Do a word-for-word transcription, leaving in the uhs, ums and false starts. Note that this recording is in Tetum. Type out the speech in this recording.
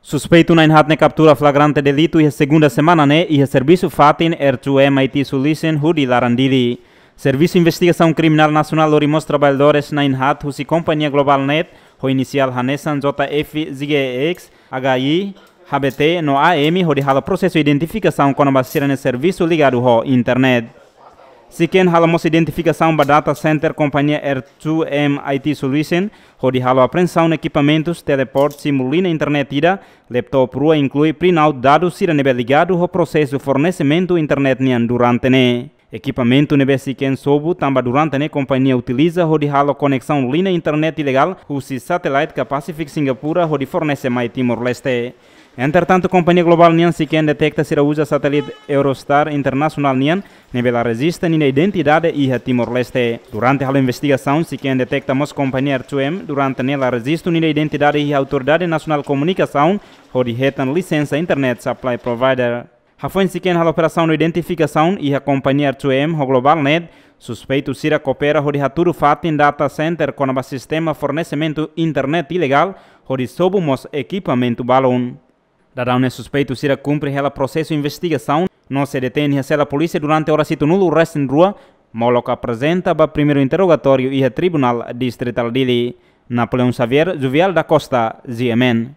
Suspeitu na'in-haat ne'e kaptura flagrante delitu iha segunda semana ne'e iha servisu fatin R two M I T Solution hodi laran Dili. Servisu Investigasaun Kriminál Nasionál lori mós traballadores na'in-haat husi kompañia Global Net ho inisiál hanesan J F Z G X, H I, H B T no A M hodi halo prosesu identifikasaun kona-ba sira-nia servisu ligadu ho internet. Siken halo mós identifikasaun ba data center kompañia R two M I T Solution, hodi halo apreensaun ekipamentus, teleport, simu liña internet ida, laptop rua, inklui printout dadus sira ne'ebé ligadu ho prosesu fornesimentu internet nian durante ne'e. Ekipamentu ne'ebé siken sobu tanba durante ne'e kompañia utiliza hodi halo koneksaun liña internet ilegál husi satellite ka Pacific Singapura hodi fornese mai Timor-Leste. Entretantu, kompañia Global nian siken deteta sira uza satélite Eurostar internasionál nian ne'ebé la rejista ninia identidade iha Timor-Leste. Durante halo investigasaun, siken deteta mós kompañia R two M durante ne'e la rejistu ninia identidade iha Autoridade Nasionál Komunikasaun hodi hetan lisensa internet supply provider. Hafoin siken halo operasaun no identifikasaun iha kompañia R two M ho Global Net, suspeitu sira koopera hodi hatudu fatin data center kona-ba sistema fornesimentu internet ilegál, hodi sobu mós ekipamentu balun. Daudaun ne'e suspeitu sira kumpre hela prosesu investigasaun no sei detein iha sela polísia durante oras hitunulu resin rua, molok aprezenta ba primeiru interrogatóriu iha Tribunál Distritál Dili. Napoleão Xavier, Juvial da Costa, G M N.